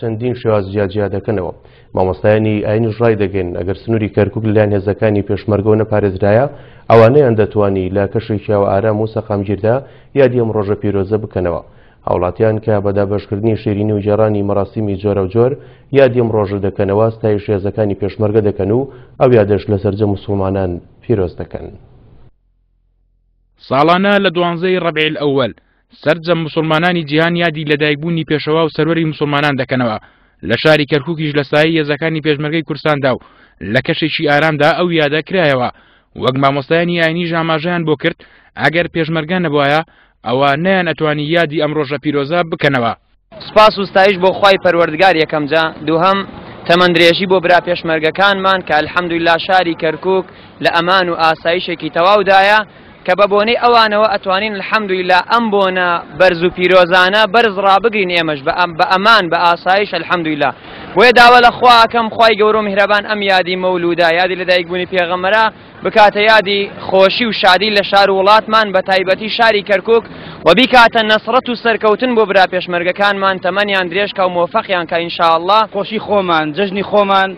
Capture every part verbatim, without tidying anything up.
چەندین شێواز جیاجیا دەکەنەوە. مامۆستایانی ئاینیش ڕایدەگەن ئەگەر سنووری کەرکوک لەلایەن هێزەکانی پێشمەرگەوە نەپارێزرایە، ئەوانەیان دەتوانی لە کەشێکی ئارام و سەقامگیردا یادی ئەم ڕۆژە پیرۆزە بکەنەوە. هاوڵاتیان کە بە دابەشکردنی شیرینی و گێڕانی مەراسیمی جۆرەوجۆر یادی ئەم ڕۆژە دەکەنەوە، ستایش هێزەکانی پێشمەرگە دەکەن و ئەو یادەش لە سەرجەم موسڵمانان پیرۆز دەکەن. ساڵانە لە دوانزەی ڕەبیع ئەوەل سەرجەم موسڵمانانی جیهان یادی لەدایکبوونی پێشەوا و سەروەری موسڵمانان دەکەنەوە. لە شاری کەرکوکیش لە سایەی هێزەکانی پێشمەرگەی کوردستاندا و لە کەشێکی ئارامدا ئەو یادە کرایەوە. وەک مامۆستایانی ئاینیش ئاماژەیان بۆ کرد ئەگەر پێشمەرگە نەبوایە ئەوە نەیان ئەتوانی یادی ئەم ڕۆژە پیرۆزە بکەنەوە. سپاس و ستایش بۆ خوای پەروەردگار یەکەمجا، دووهەم تەمەندرێژی بۆ برا پێشمەرگەکانمان کە الحەمدللا شاری کەرکوک لە ئەمان و ئاسایشێکی تەواودایە کە بە بۆنەی ئەوانەوە ئەتوانین الحەمدللا ئەم بۆنە بەرز و پیرۆزانە بەرز ڕابگرین ئێمەش بە ئەمان بە ئاسایش الحەمدللا. بۆیە داوا لە خوا ئەکەم خوای گەورە و میهرەبان ئەم یادی مەولوودە، یادی لەدایکبوونی پێغەمبەرە، بکاتە یادی خۆشی و شادی لە شار و وڵاتمان بە تایبەتی شاری کەرکوک و بیکاتە نەسرەت و سەرکەوتن بۆ برا پێشمەرگەکانمان، تەمەنیان درێژکا و مۆفەقیان کە ئینشاءاللە. خۆشی خۆمان، جەژنی خۆمان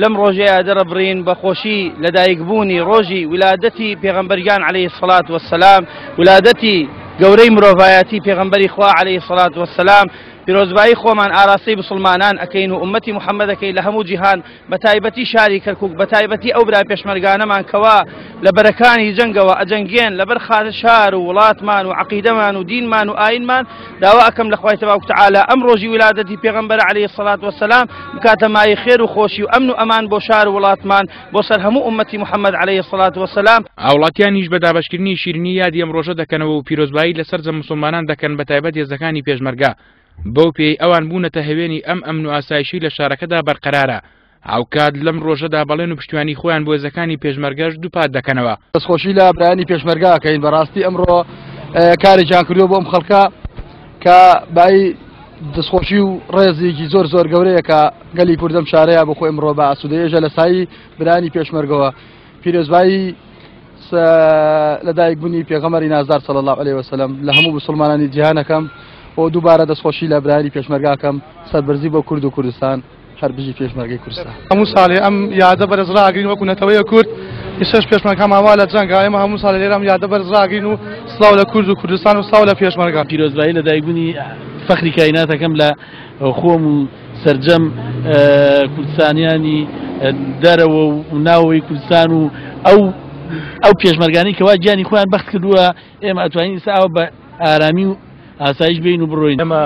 لەم ڕۆژەیە دەرەبڕین بە خۆشی لەدایکبوونی ڕۆژی ولادەتی پێغەمبەرگیان عەلەیهی سەڵات وەسەلام، ولادەتی گەورەی مرۆڤایەتی پێغەمبەری خوا عەلەیهی سەڵات وەسەلام. پیرۆزبایی خۆمان ئاراستەی مسلمانان ئەکەین و ئومەتی محەممەد ئەکەین لە هەموو جیهان، بە تایبەتی شاری کەرکوک، بە تایبەتی ئەو برا پێشمەرگانەمان کەوا لە بەرەکانی جەنگەوە ئەجەنگێن لەبەر خاتر شار و وڵاتمان و عەقیدەمان و دینمان و ئاینمان. داوا ئەکەم لە خوای تەبارک وتەعالا ئەم ڕۆژی ولادەتی پێغەمبەر عەلەیهی سەڵات وەسەلام بکاتە مایەی خێر و خۆشی و ئەمن و ئەمان بۆ شار و وڵاتمان، بۆ سەر هەموو ئومەتی محەممەد عەلەیهی سەڵات وەسەلام. هاوڵاتیانیش بە دابەشکردنی شیرینی یادی ئەم ڕۆژە دەکەنەوە و پیرۆزبایی لە سەرجەم موسڵمانان دەکەن، بە تایبەت هێزەکانی پێشمەرگە، بەو پێی ئەوان بوونەتە هەوێنی ئەم ئەمن و ئاسایشی لە شارەکەدا بەرقەرارە. هاوکات لەم ڕۆژەدا بەڵێن و پشتیوانی خۆیان بۆ هێزەکانی پێشمەرگەش دووپات دەکەنەوە. دەستخۆشی لە برایانی پێشمەرگە ئەکەین، بەڕاستی ئەمڕۆ کارێکیان کردووە بۆ ئەم خەڵکە کە بای دەستخۆشی و ڕێزێکی زۆر زۆر گەورەیە کە گەلی کوردەم شارەیە بۆ خۆی ئەمڕۆ بە ئاسوودەیەژە لە سایی برایانی پێشمەرگەوە. پیرۆزبایی لەدایکبوونی پێغەمبەری نازدار صلی الله علیه وسلم لە هەموو مسلمانانی جیهانەکەم و دووبارە دەستخۆشی لە برایانی پێشمەرگاکەم، سەربەرزی بۆ کورد و کوردستان، هەر بژی پێشمەرگەی کوردستان. هەموو ساڵێ ئەم یادە بەرز ڕاگرین وەکو نەتەوەیە کورد، ئێستاش پێشمەرگەمان وا لە جەنگا، ئێمە هەموو ساڵێ لێرە ئەم یادە بەرز ڕاگرین و سڵاو لە کورد و کوردستان و سڵاو لە پێشمەرگە. پیرۆزبایی لەدایکبوونی فەخری کایناتەکەم لە خۆم و سەرجەم کوردستانیانی دەرەوە و ناوەوەی کوردستان و ئەو ئەو پێشمەرگانی کەوا گیانی خۆیان بەخت کردووە، ئێمە ئەتوانین ئێستا ئەوە بە ئارامی و ئاسایش بین و بڕۆین. ئێمە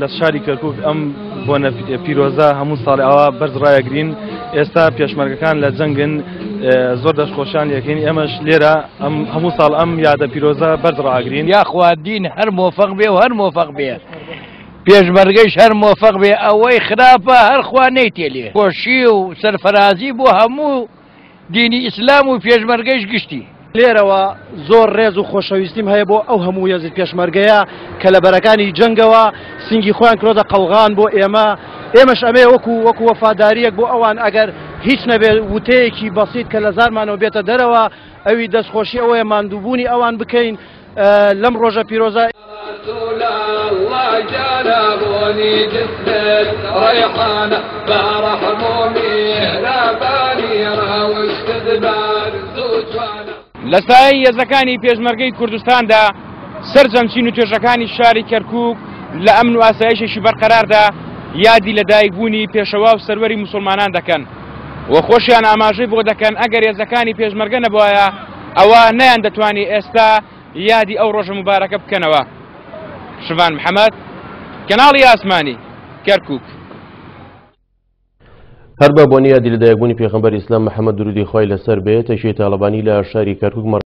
لە شاری کەرکوک ئەم بۆنە پیرۆزە هەموو ساڵی ئەوە بەرز ڕایەگرین. ئێستا پێشمەرگەکان لە جەنگن، زۆر دەستخۆشیان لێکەین، ئێمەش لێرە هەموو ساڵ ئەم یادە پیرۆزە بەرز ڕاگرین. یاخوا دین هەر مۆفەق بێ و هەر مۆفەق بێ، پێشمەرگەیش هەر مۆفەق بێ، ئەوەی خراپە هەر خوا نەیتێلێ. خۆشی و سەرفەرازی بۆ هەموو دینی ئیسلام و پێشمەرگەیش گشتی. لێرەوە زۆر ڕێز و خۆشەویستیم هەیە بۆ ئەو هەموو هێزی پێشمەرگەیە کە لە بەرەکانی جەنگەوە سنگی خۆیان کرۆتە قەڵغان بۆ ئێمە. ئێمەش ئەمێ وەکو وەکو وەفاداریەک بۆ ئەوان، ئەگەر هیچ نەبێت وتەیەکی بەسیت کە لە زارمانەوە بێتە دەرەوە، ئەوی دەستخۆشی ئەوەیە ماندووبوونی ئەوان بکەین لەم ڕۆژە پیرۆزە. لە سایەی هێزەکانی پێشمەرگەی کوردستاندا سەرجەم چین و توێژەکانی شاری کەرکوک لە ئەمن و ئاسایشێکی بەرقەراردا یادی لەدایکبوونی پێشەوا و سەروەری موسڵمانان دەکەن و خۆشیان ئاماژەی بۆ دەکەن ئەگەر هێزەکانی پێشمەرگە نەبوایە ئەوە نەیان دەتوانی ئێستا یادی ئەو ڕۆژە موبارەکە بکەنەوە. شڤان محەممەد، کەناڵی ئاسمانی، کەرکوک. هەر بە بۆنی یادی لەدایکبوونی پێغەمبەر ئیسلام محەممەد درودی خوای لەسەر بێت، تەکیەی تاڵەبانی لە شاری کەرکوک